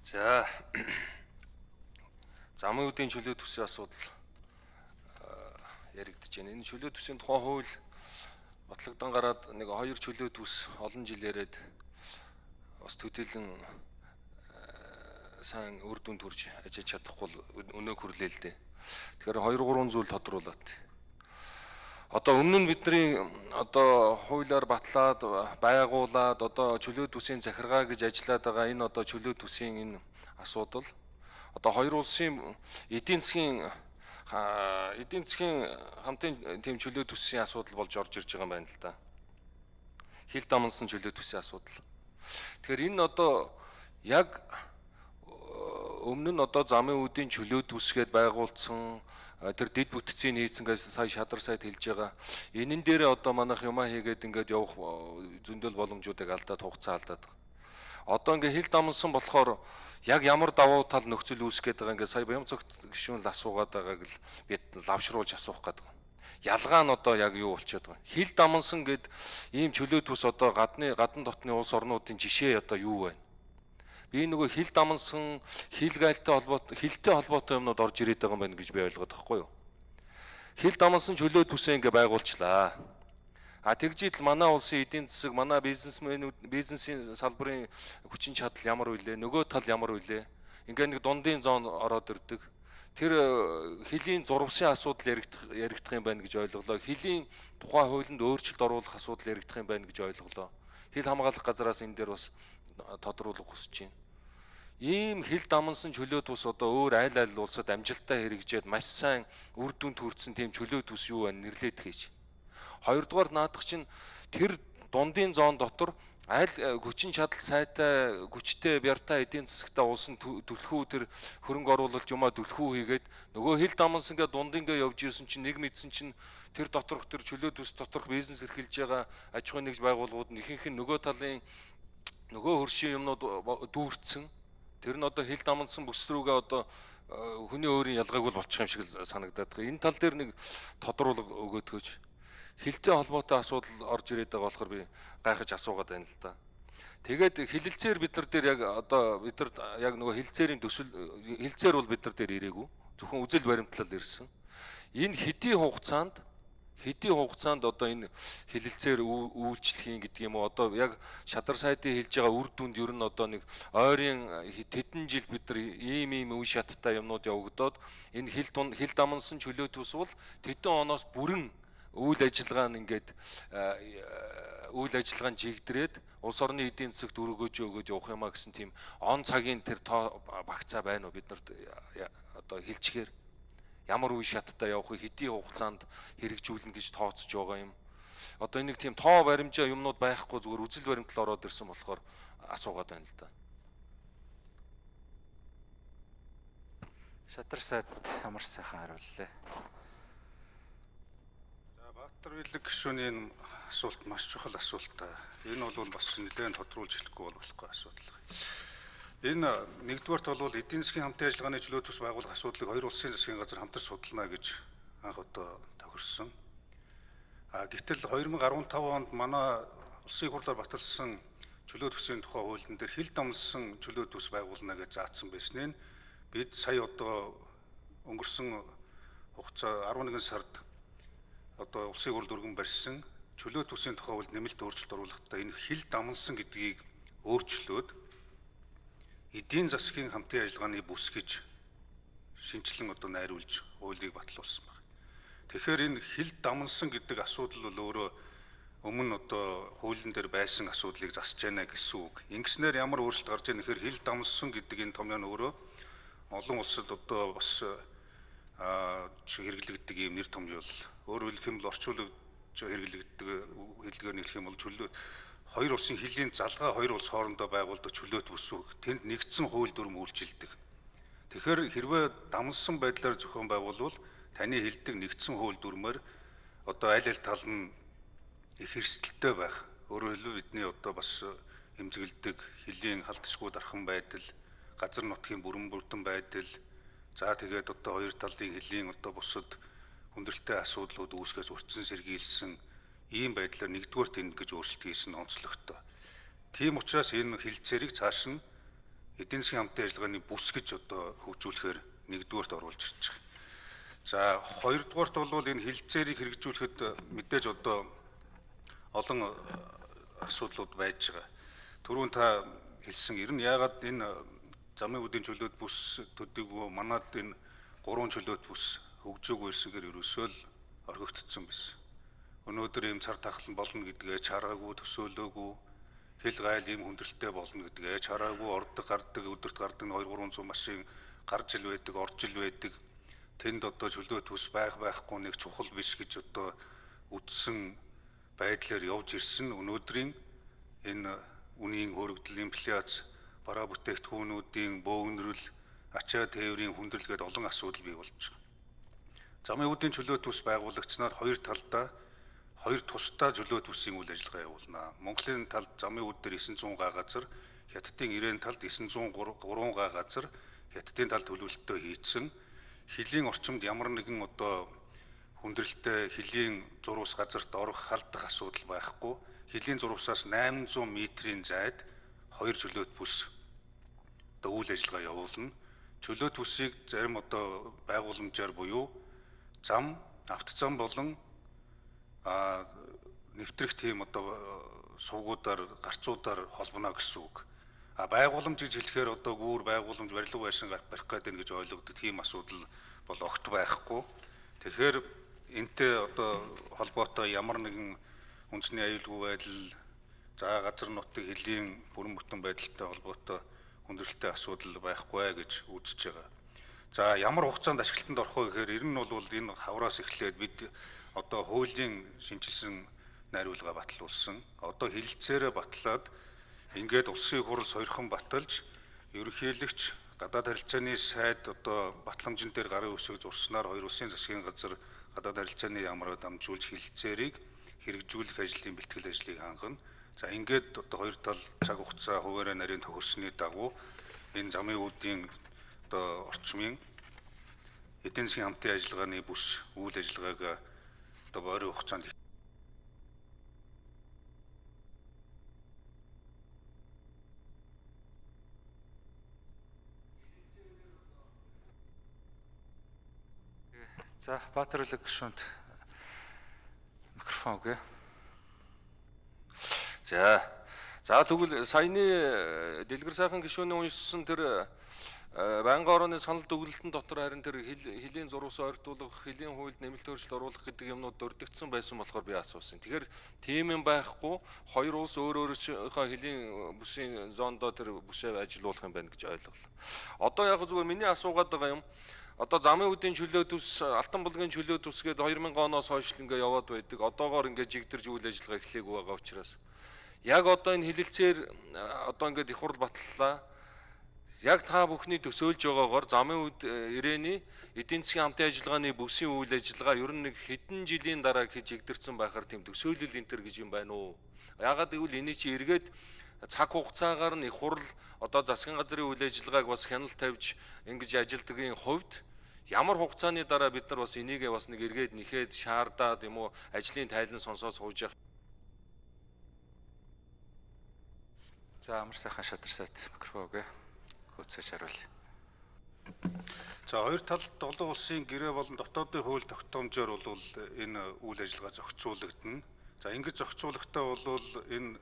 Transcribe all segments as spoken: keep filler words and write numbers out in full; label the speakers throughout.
Speaker 1: За замын үеийн чөлөө төсвийн асуудал яригдж байна. Энэ чөлөө төсвийн тухай хууль батлагдсан гараад нэг хоёр чөлөө төс олон жил яриад бас төдийлөн сайн үр дүн төрж ажиж чадахгүй өнөө хүрлээ л дээ. Тэгэхээр хоёр гурван зүйл тодруулаад. Одоо өмнө нь бидний одоо хуулиар батлаад байгуулад одоо чөлөө төсвийн захиргаа гэж ажиллаад байгаа энэ одоо чөлөө төсвийн энэ асуудал одоо хоёр улсын эдийн засгийн эдийн засгийн хамтын тийм чөлөө төсвийн асуудал болж орж ирж байгаа юм байна л да. Хил дамнсан чөлөө төсвийн асуудал. Тэгэхээр энэ одоо яг өмнө нь одоо замын үүдийн чөлөө төсгээд байгуулсан тэр дэд бүтцийн хийцэнгээс сая шадар сайд хэлж байгаа. Энэн дээр одоо манайх юмаа хийгээд ингээд явах зөндөл боломжуудыг алдаад хугацаа алдаад. Одоо ингээд хил дамнсан болохоор яг ямар давуу тал нөхцөл үүсгэж байгаа ингээд сая Баямцогт гишүүн л асуугаад байгааг л бид лавшруулж асуух гэдэг. Ялгаа нь одоо яг юу болчиход байгаа. Хил дамнсан гэд ийм чөлөө төс одоо гадны гадна дотны улс орнуудын жишээ одоо юу вэ? Би нөгөө хил дамнсан хил гайлтай холбоотой хилтэй холбоотой юмнууд орж ирээд байгаа юм байна гэж би ойлгоод байхгүй юу? Хил дамнсан чөлөө төсөө ингээ байгуулчлаа. А тэгжил манай улсын эдийн засаг, манай бизнесмэнүүд бизнесийн салбарын хүчин чадал ямар вүлээ, нөгөө тал ямар вүлээ? Ингээ нэг дундын зоон ороод ирдэг. Тэр хилийн зурвсын асуудал яригдах яригдах юм байна гэж ойлголоо. Хилийн тухай хуулинд өөрчлөлт оруулах асуудал яригдах юм байна гэж ойлголоо. Хил хамгаалах газраас энэ дээр бас тодруулах хүсэж байна. Ийм хил дамнсан чөлөө төс одоо өөр айл айл улсад амжилттай хэрэгжээд маш сайн үр дүнд хүрсэн тийм чөлөө төс юу вэ нэрлээд хийж. Хоёрдугаар наадах чинь тэр дундын зоон дотор айл хүчин чадал сайтай хүчтэй бяртай эдийн засагтай улсын түлхүү тэр хөрөнгө оруулалт юмаа түлхүү хийгээд нөгөө хил дамнсан гэ дундингээ явж ирсэн чинь нэг мэдсэн чинь тэр доторх тэр чөлөө төс доторх бизнес эрхэлж байгаа аж ахуйн нэгж байгууллагууд нь ихэнх нь нөгөө талын нөгөө хөршийн юмнууд дүүрцсэн. Тэр нь одоо хил дамнсан бүс рүүгээ одоо хүний өөрийн ялгааг бол болчих юм шиг санагдаад байгаа. Энэ тал дээр нэг тодруулга өгөөдгөөч. Хилтэй холбоотой асуудал орж ирээд байгаа болохоор би гайхаж асуугаад байна л да. Тэгээд хилэлцээр бид нар дээр яг одоо бид нар яг нөгөө хилцээрийн төсөл хилцээр бол бид нар дээр ирээгүй. Зөвхөн үзэл баримтлал ирсэн. Энэ хэдийн хугацаанд хэдийн хугацаанд одоо энэ хилэлцээр үйлчлэх гэдэг юм уу одоо яг шадар сайдын хэлж байгаа үр дүнд ер нь одоо нэг ойрын тэдэн жил бид нар ийм ийм үе шаттай юмнууд явагдаад энэ хил хил дамнсан чөлөө төс бол тэдэн оноос бүрэн үйл ажиллагаа нь ингээд үйл ажиллагаа нь жигдрээд улс орны эдийн засагт өргөөж өгөөж явах юмаа гэсэн тийм он цагийн тэр тоо багцаа байна уу бид нарт одоо хэлчихээр ямар үе шаттай явахыг хэдийн хугацаанд хэрэгжүүлнэ гэж тооцож байгаа юм. Одоо нэг тийм тоо баримжаа юмнууд байхгүй зүгээр үзэл баримтлал ороод ирсэн болохоор асуугаад байна л да.
Speaker 2: Шадар сайд амар сайхан хариуллаа.
Speaker 3: За Баатар Билэг гишүүний асуулт маш чухал асуулт та. Энэ бол бас нэлээд тодруулж хэлэхгүй болохгүй асуудал. Энэ нэгдүгээрт бол эдийн засгийн хамтын ажиллагааны чөлөө төс байгуулах асуудлыг хоёр улсын засгийн газар хамтар судална гэж анх одоо тохирсон. А гэтэл хоёр мың арван тав онд манай улсын хурлаар баталсан чөлөө төсвийн тухай хуулийн дээр хил дамнсан чөлөө төс байгуулна гэж заасан байсныг бид сая одоо өнгөрсөн хугацаа арван нэгэн сард одоо улсын хурл өргөн барьсан чөлөө төсвийн тухай хуулинд нэмэлт өөрчлөлт оруулахдаа энэ хил дамнсан гэдгийг өөрчлөөд эдийн засгийн хамтын ажиллагааны бүс гэж шинжилэн одоо найруулж хуулийг батлуулсан байна. Тэгэхээр энэ хил дамнсан гэдэг асуудал бол өөрөө өмнө одоо хуулийн дээр байсан асуудлыг засч байна гэсэн үг. Ингэснээр ямар өөрчлөлт гарч ийнэ гэхээр хил дамнсан гэдэг энэ томьёо нь өөрөө олон улсад одоо бас хэрэглэгддэг юм нэр томьёо л. Өөрөөр хэлэх юм бол орчуулж хэрэглэгддэг хэлгээр нэрх юм бол чөлөө хоёр улсын хилийн залгаа хоёр улс хоорондоо байгуулдаг чөлөө төсөв тэнд нэгдсэн хууль дүрм үйлчилдэг. Тэгэхээр хэрвээ дамнсан байдлаар зохион байгуулвал таны хэлдэг нэгдсэн хууль дүрмээр одоо аль аль тал нь их эрсдэлтэй байх. Өөрөөр хэлбэл бидний одоо бас эмзэгэлдэг хилийн халтшгүй дархан байдал, газар нутгийн бүрэн бүрдэн байдал, за тэгээд одоо хоёр талын хилийн одоо бусад хүндрэлтэй асуудлууд үүсгээс урьдчилан сэргийлсэн ийм байдлаар нэгдүгээр тэнд гэж өөрчлөлт хийсэн онцлогтой. Тийм учраас энэ хилцээрийг цааш нь эдийн засгийн хамтын ажиллагааны бүс гэж одоо хөгжүүлэхээр нэгдүгээрт оруулж ирж байгаа. За хоёрдугаарт бол энэ хилцээрийг хэрэгжүүлэхэд мэдээж одоо олон асуудлууд байж байгаа. Түрүүн та хэлсэн ер нь яагаад энэ замын үдийн чөлөөт бүс төдийгүй манад энэ гурван чөлөөт бүс хөгжөөгүй ирсэнгээр ерөөсөө л орхигдсон байсан. Өнөөдөр ийм цар тахлан болно гэдгээ чараагүй, төсөөлөөгүй, хэл гайл ийм хүндрэлтэй болно гэдгээ чараагүй, ордог гардаг, өдөрт гардаг хоёр гурван зуун машин гарч ил байдаг, орж ил байдаг. Тэнд одоо чөлөөт бүс байх байхгүй нэг чухал биш гэж одоо үтсэн байдлаар явж ирсэн өнөөдрийн энэ үнийн хөрөгдөл, инфляц, бараа бүтээгдэхүүнүүдийн бөөгнөрөл, ачаа тээврийн хүндрэл гээд олон асуудал бий болж байгаа. Замын үдийн чөлөөт бүс байгуулагчнаар хоёр талдаа хоёр тусдаа чөлөөт бүсийн үйл ажиллагаа явуулна. Монголын талд замын үд дээр девять сто га газар, Хятадын ирээн талд девять сто три га газар, Хятадын талд төлөвлөлтөө хийцэн хилийн орчимд ямар нэгэн одоо хүндрэлтэй хилийн зурвас газарт орох халдах асуудал байхгүй. Хилийн зурвасаас восемь сто метрийн зайд хоёр чөлөөт бүс одоо үйл ажиллагаа явуулна. Чөлөөт бүсийг зарим одоо байгууламжаар буюу зам, автозам болон а нэвтрэх тийм одоо сувгуудаар, гарцуудаар холбоно гэсэн үг. А байгууламж гэж хэлэхээр одоо гүүр байгууламж барилга байшин барих гэдэг гэж ойлгогддог тийм асуудал бол огт байхгүй. Тэгэхээр энтэй одоо холбоотой ямар нэгэн үндэсний аюулгүй байдал, за газар нутгийн хилийн бүрэн бүтэн байдалтай холбоотой хүндрэлтэй асуудал байхгүй гэж үзэж байгаа. За ямар хугацаанд ашиглалтанд орох вэ гэхээр ер нь бол энэ хавраас эхлээд бид одоо хуулийн шинжилсэн найруулга батлуулсан. Одоо хилцээрээ батлаад ингээд улсын хурал сойрхон баталж ерөнхийлөгч гадаад харилцааны сайд одоо батламжин дээр гарын үсэг зурснаар хоёр улсын засгийн газар гадаад харилцааны яамраа дамжуулж хилцээрийг хэрэгжүүлэх ажлын бэлтгэл ажлыг хангана. За ингээд одоо хоёр тал цаг хугацаа хуваарай нарийн тохирсны дагуу энэ замын үүдийн одоо орчмын эдийн засгийн хамтын ажиллагааны бүс үйл ажиллагааг одоо ойрын хугацаанд
Speaker 2: За Баатар Улиг гишүүнд микрофон өгье.
Speaker 1: За. За тэгвэл саяны дэлгэр сайхан гишүүний уншсан тэр байнгын орооны санал дүгнэлтэн дотор харин тэр хилийн зурвас ойртуулах, хилийн хуульд нэмэлт өөрчлөлт оруулах гэдэг юмнууд дурддагдсан байсан болохоор би асуусан. Тэгэхээр тийм юм байхгүй, хоёр улс өөр өөрсдийнхөө хилийн бүсийн зоондоо тэр бүсээ ажилуулах юм байна гэж ойлголоо. Одоо яг зүгээр миний асуугаад байгаа юм. Одоо замын үдийн чөлөөт ус, Алтан булгийн чөлөөт ус гээд две тысячи оноос хойш ингээ яваад байдаг. Одоогоор ингээ жигдэрж үйл ажиллагаа эхлэегүй байгаа учраас яг одоо энэ хилэлцээр одоо ингээд их хурл батллаа. Яг та бүхний төсөөлж байгаагаар замын үд ирээний эдийн засгийн хамтын ажиллагааны бүсийн үйл ажиллагаа ер нь нэг хэдэн жилийн дараа хийж игдэрсэн байхаар тийм төсөөлөл энтер гэж юм байна уу? Ягаад гэвэл энэ чи эргээд цаг хугацаагаар нь их хурл одоо засгийн газрын үйл ажиллагааг бас хяналт тавьж ингэж ажилдгийн хувьд ямар хугацааны дараа бид нар бас энийг бас нэг эргээд нэхэд шаардаад юм уу ажлын тайлан сонсоод сууж явах.
Speaker 2: За амар сайхан шадарсаад микрофон өгье. Хөөцөөж харуул.
Speaker 3: За хоёр талд олон улсын гэрээ болон дотоодын хууль тогтоомжоор бол энэ үйл ажиллагаа зохицуулагдана. За ингэж зохицуулахдаа бол энэ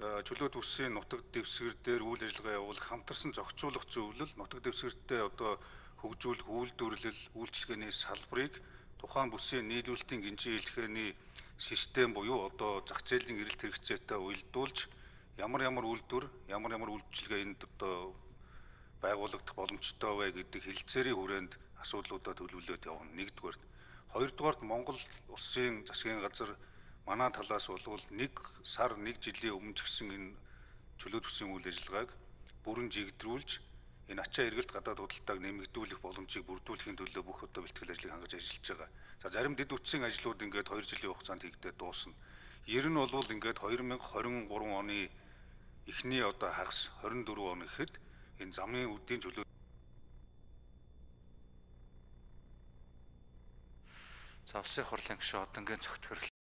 Speaker 3: чөлөөт бүсийн нутаг дэвсгэр дээр үйл ажиллагаа явуулах хамтарсан зохицуулах зөвлөл нутаг дэвсгэртээ одоо хөгжүүлэх үйлдвэрлэл, үйлчилгээний салбарыг тухайн бүсийн нийлүүлэлтийн гинжин хэлхээний систем буюу одоо зах зээлийн эрэлт хэрэгцээтэй уялдуулж ямар ямар үйлдвэр, ямар ямар үйлчилгээ энд одоо байгуулагдах боломжтой вэ гэдэг хилцээрийн хүрээнд асуудлуудаа төлөвлөд явна. Нэгдүгээр. Хоёрдугаарт Монгол улсын засгийн газар манай талаас бол нэг сар нэг жилийн өмнө ч гэсэн энэ чөлөөт бүсийн үйл ажиллагааг бүрэн жигдрүүлж энэ ачаа эргэлт гадаад худалдааг нэмэгдүүлэх боломжийг бүрдүүлэхийн төлөө бүх одоо бэлтгэл ажлыг хангаж ажиллаж байгаа. За зарим дэд үтсийн ажлууд ингээд хоёр жилийн хугацаанд хийгдээд дуусна. Ер нь бол ингээд две тысячи двадцать три оны эхний одоо хагас двадцать четыре он гэхэд энэ замын үдийн чөлөө
Speaker 2: За улсын хурлын гишүүн одонгийн цогт хөрөл